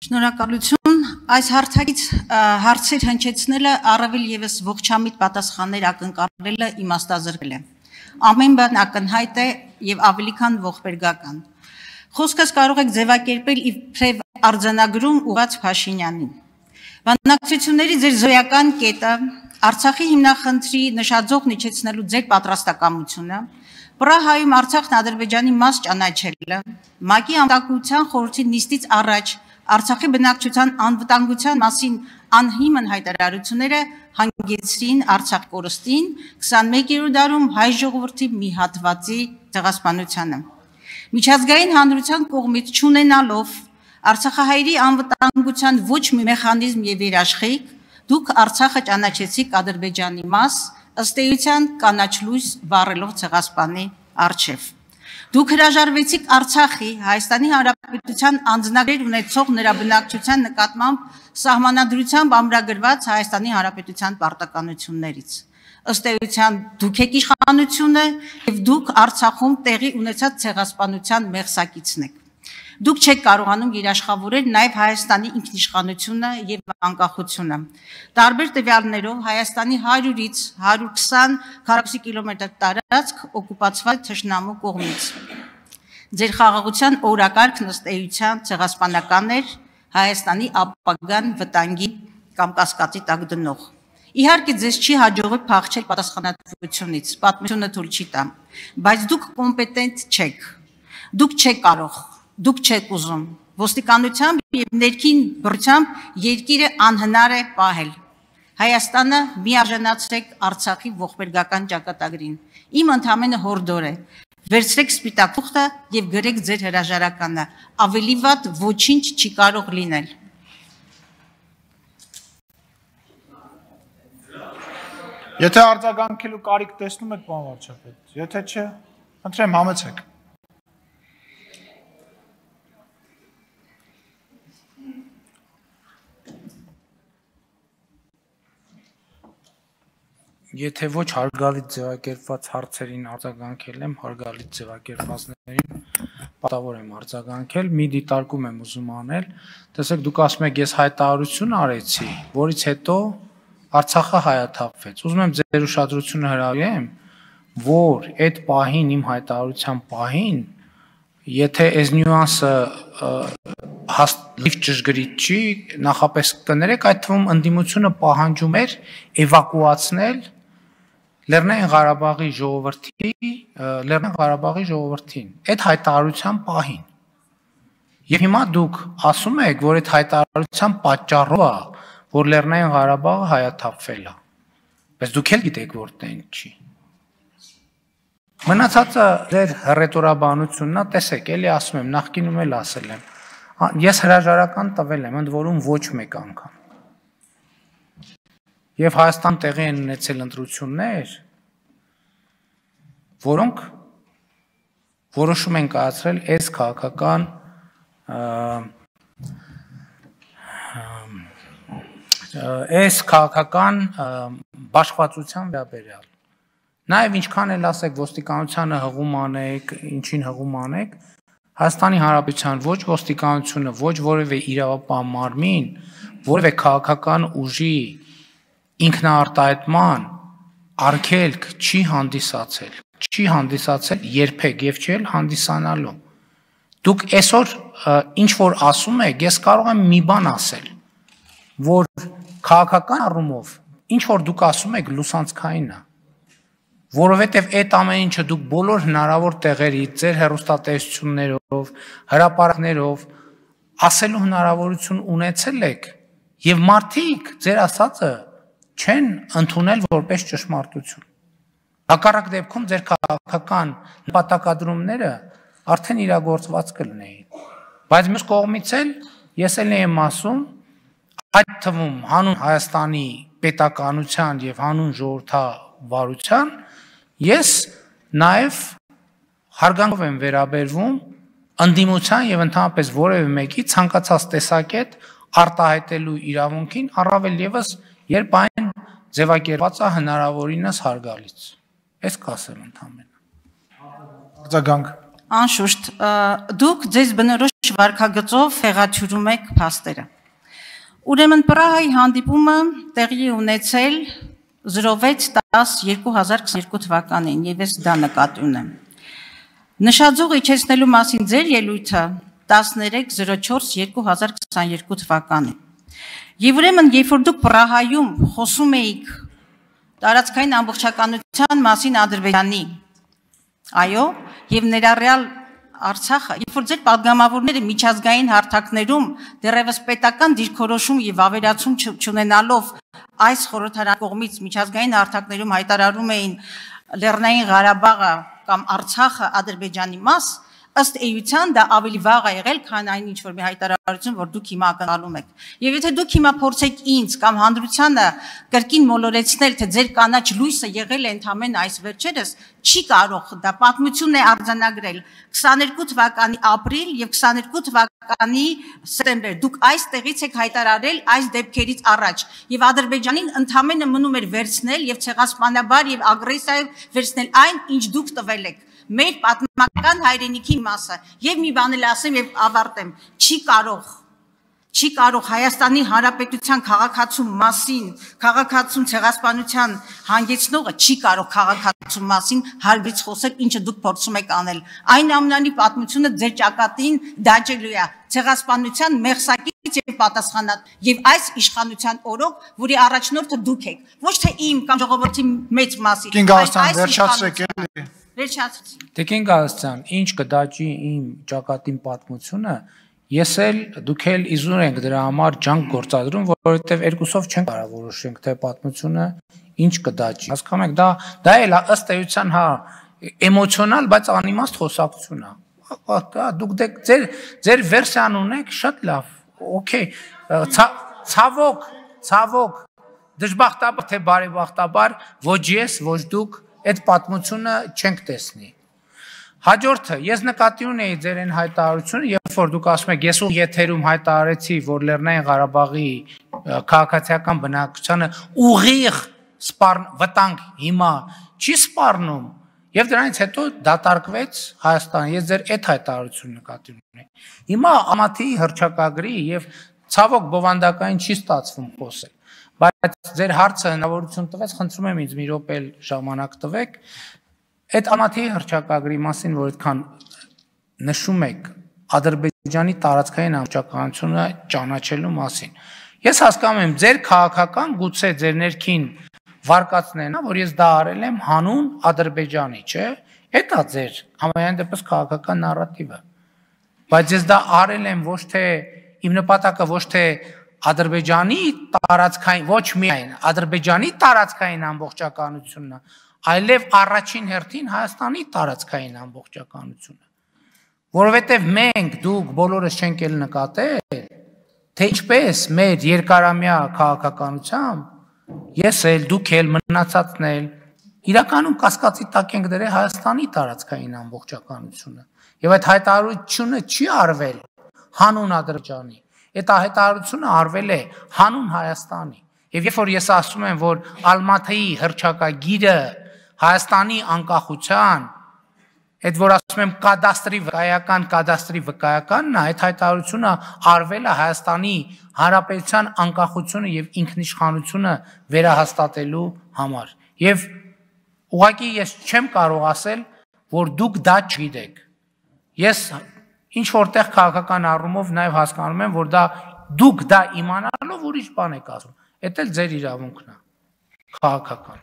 Շնորհակալություն այս հարցից հարցեր հնչեցնելը առավել եւս ողջամիտ պատասխաններ ակնկալելը իմաստազրկել է։ Ամեն բան ակնհայտ է եւ ավելի քան ողբերգական։ Խոսքս կարող եք ձևակերպել իբրև արձանագրում ուղղված Փաշինյանին։ Բանակցությունների ձեր զոյական կետը, Արցախի հիմնախնդրի նշաձող իջեցնելու ձեր պատրաստակամությունը, Պրահայում Արցախն Ադրբեջանի մաս ճանաչելը, ՄԱԿ-ի անդամության խորհրդի նիստից առաջ Արցախի բնակչության անվտանգության մասին անհիմն հայտարարությունները հանգեցրին Արցախ կորստին 21-րդ դարում հայ ժողովրդի մի հատվածի ցեղասպանությանը։ Միջազգային հանրության կողմից չունենալով Արցախահայերի անվտանգության ոչ մի մեխանիզմ եւ երաշխիք, դուք Արցախը ճանաչեցիք Ադրբեջանի մաս, ըստ էության կանաչ լույս վառելով ցեղասպանի առջև։ Դուք հրաժարվեցիք Արցախի Հայաստանի Հանրապետության անձնագրեր ունեցող նրա բնակչության նկատմամբ սահմանադրությամբ ամրագրված Հայաստանի Հանրապետության պարտականություններից։ Ըստ էության դուք եք իշխանությունը եւ դուք Արցախում տեղի ունեցած ցեղասպանության մեղսակիցն եք։ Դուք չեք կարողանում երաշխավորել նաև Հայաստանի ինքնիշխանությունը եւ անկախությունը։ Տարբեր տվյալներով Հայաստանի 100-ից 120 քառակուսի կիլոմետր տարածք օկուպացված թշնամու կողմից։ Ձեր խաղաղության օրակարգն ըստ էության ցեղասպանական էր, Հայաստանի ապագան վտանգի կամ կասկածի տակ դնող։ Իհարկե ձեզ չի հաջողվել փախչել պատասխանատվությունից, պատմությունը թույլ չի տա, բայց դուք կոմպետենտ չեք։ Դուք չեք կարող, դուք չեք ուզում։ Ոստիկանությամբ եւ ներքին բռնությամբ երկիրը անհնար է պահել։ Հայաստանը միարժանացրեք Արցախի ողբերգական ճակատագրին։ Իմ ընդհանրապես հորդոր է։ Վերցրեք սպիտակ թուղթը եւ գրեք ձեր հրաժարականը։ Ավելի վատ ոչինչ չի կարող լինել։ Եթե արձագանքելու կարիք տեսնում եք, պարոն վարչապետ, եթե չէ, խնդրեմ համեցեք։ Եթե ոչ հարգալից ձևակերպված հարցերին արձագանքել եմ, հարգալից ձևակերպվածներին պատավոր եմ արձագանքել, մի դիտարկում եմ ուզում անել, տեսեք դուք ասում եք ես հայտարարություն արեցի, որից հետո Արցախը հայաթափվեց։ Ուզում եմ ձեր ուշադրությունը հրավիրեմ, որ այդ պահին իմ հայտարարության պահին, եթե այս նյուանսը լիվ ճշգրիտ չի, նախապես կներեք, այդ թվում ընդդիմությունը պահանջում էր էվակուացնել Լեռնային Ղարաբաղի ժողովրդին, այդ հայտարարության պահին։ Եվ հիմա դուք ասում եք, որ այդ հայտարարության պատճառով է, որ Լեռնային Ղարաբաղը հայաթափվել է։ Բայց դուք էլ գիտեք, որ տեն չի։ Մնացածը ձեր հռետորաբանությունն է, տեսեք, էլի ասում եմ, նախկինում էլ ասել եմ։ Ես հրաժարական տվել եմ, ընդ որում ոչ մեկ անգամ։ Եվ Հայաստան տեղի են ունեցել ընտրություններ, որոնք որոշում են կայացրել այս քաղաքական բաշխվածության վերաբերյալ։ Նաև ինչքան էլ ասեք ոստիկանությանը հղում անեք, ինչին հղում անեք, Հայաստանի Հանրապետության ոչ ոստիկանությունը, ոչ որևէ իրավապահ մարմին, որևէ քաղաքական ուժի ինքնաարտահայտման արգելք չի հանդիսացել երբեք եւ չի էլ հանդիսանալու։ Դուք այսօր ինչ որ ասում եք, ես կարող եմ մի բան ասել, որ քաղաքական առումով ինչ որ դուք ասում եք լուսանցքային է, որովհետեւ այդ ամեն ինչը դուք բոլոր հնարավոր տեղերից, ձեր հեռուստատեսություններով, հրապարակներով ասելու հնարավորություն ունեցել եք եւ մարդիկ ձեր ասածը չեն ընդունել որպես ճշմարտություն։ Հակառակ դեպքում ձեր քաղաքական նպատակադրումները արդեն իրագործված կլինեին։ Բայց մյուս կողմից էլ ես էլ եմ ասում, այդ թվում հանուն Հայաստանի պետականության եւ հանուն ժողովրդավարության, ես նաեւ հարգանքով եմ վերաբերվում ընդդիմության եւ ընդհանրապես որևէ մեկի ցանկացած տեսակետ արտահայտելու իրավունքին, առավել եւս երբ այն ձևակերպված է հնարավորինս հարգալից։ Այս կասեմ ընդհանրապես։ Արձագանք։ Անշուշտ, դուք ձեզ բնորոշ վարքագծով հեղաթյուրում եք փաստերը։ Ուրեմն Պրահայի հանդիպումը տեղի ունեցել 06/10/2022 թվականին, եւ ես դա նկատի ունեմ։ Նշաձող իջեցնելու մասին ձեր ելույթը 13/04/2022 թվականին։ Եվ ուրեմն, երբ որ դուք Պրահայում խոսում էիք տարածքային ամբողջականության մասին Ադրբեջանի, այո, եւ ներառյալ Արցախը, երբ որ ձեր պատգամավորները միջազգային հարթակներում դեռևս պետական դիրքորոշում եւ ավերացում չունենալով այս խորհրդարանի կողմից միջազգային հարթակներում հայտարարում էին Լեռնային Ղարաբաղը կամ Արցախը Ադրբեջանի մաս, ըստ էության դա ավելի վաղ է եղել, քան այն ինչ որ մի հայտարարություն, որ դուք հիմա ակնկալում եք։ Եվ եթե դուք հիմա փորձեք ինձ կամ հանրությանը կրկին մոլորեցնել, թե ձեր կանաչ լույսը եղել է ընդամենը այս վերջերս, չի կարող, դա պատմություն է արձանագրել 22 թվականի ապրիլ եւ 22 թվականի սեպտեմբեր։ Դուք այստեղից եք հայտարարել այս դեպքերից առաջ եւ Ադրբեջանին ընդամենը մնում էր վերցնել եւ ցեղասպանաբար եւ ագրեսիայով վերցնել այն, ինչ դուք տվել եք։ Մեր պատմական հայրենիքի մասը եւ մի բան էլ ասեմ եւ ավարտեմ, չի կարող Հայաստանի Հանրապետության քաղաքացու մասին, քաղաքացու ցեղասպանության հանգեցնողը չի կարող քաղաքացու մասին հարգից խոսել, ինչը դուք փորձում եք անել։ Այն ամենանի պատմությունը ձեր ճակատին դաջելու է ցեղասպանության մեղսակից եւ պատասխանատ եւ այս իշխանության օրոք, որի առաջնորդը դուք եք, ոչ թե իմ կամ ժողովրդի մեծ մասի։ Տիկին Գալստյան, ինչ կդաջի իմ ճակատին պատմությունը, ես էլ դուք էլ իզուր ենք դրա համար ջանք գործադրում, որովհետև երկուսով չենք կարող որոշենք, թե պատմությունը ինչ կդաջի։ Հասկանում եք, դա էլ ըստ էության հա էմոցիոնալ, բայց անիմաստ խոսակցություն է։ Դուք ձեր վերսիան ունեք, շատ լավ, օքեյ, ցավոք, դժբախտաբար թե բարեբախտաբար, ոչ ես, ոչ դուք այդ պատմությունը չենք տեսնի։ Հաջորդը, ես նկատի ունեի ձեր այն հայտարարությունը, երբ որ դուք ասում եք, ես ու եթերում հայտարարեցի, որ Լեռնային Ղարաբաղի քաղաքացիական բնակչությանը ուղիղ վտանգ հիմա չի սպառնում, եւ դրանից հետո դատարկվեց Հայաստանը, ես ձեր այդ հայտարարությունը նկատի ունեի։ Հիմա ամաթի հռչակագրի եւ ցավոք բովանդակային չի ստացվում խոսել, բայց ձեր հարցը հնարավորություն տվեց, խնդրում եմ ինձ մի րոպե ժամանակ տվեք, այդ ամաթի հռչակագրի մասին, որ այդքան նշում եք Ադրբեջանի տարածքային ամբողջականությունը ճանաչելու մասին։ Ես հասկանում եմ, ձեր քաղաքական գուցե ձեր ներքին վարկածներն է, որ ես դա արել եմ հանուն Ադրբեջանի, չէ՞։ Դա է ձեր համայան դեպս քաղաքական նարատիվը։ Բայց ես դա արել եմ ոչ թե իմ նպատակը ոչ թե Ադրբեջանի տարածքային, ոչ միայն Ադրբեջանի տարածքային ամբողջականությունն է, այլև առաջին հերթին Հայաստանի տարածքային ամբողջականությունը։ Որովհետև մենք դուք բոլորս չենք էլ նկատել, թե ինչպես մեր երկարամյա քաղաքականությամբ ես էլ դուք էլ մնացածն էլ իրականում կասկածի տակ ենք դրել Հայաստանի տարածքային ամբողջականությունը։ Եվ այդ հայտարարությունը չի արվել հանուն Ադրբեջանի, այդ հայտարարությունը արվել է հանուն Հայաստանի։ Եվ երբ որ ես ասում եմ, որ Ալմաթայի հռչակագիրը Հայաստանի անկախության, այդ որ ասում եմ կադաստրի վկայականն է, այդ հայտարարությունը արվել է Հայաստանի Հանրապետության անկախությունը եւ ինքնիշխանությունը վերահաստատելու համար։ Եվ ուղղակի ես չեմ կարող ասել, որ դուք դա չգիտեք։ Ես ինչ որտեղ քաղաքական առումով նաեւ հասկանում եմ, որ դուք դա իմանալով ուրիշ բան եք ասում։ Դա էլ ձեր իրավունքն է, քաղաքական։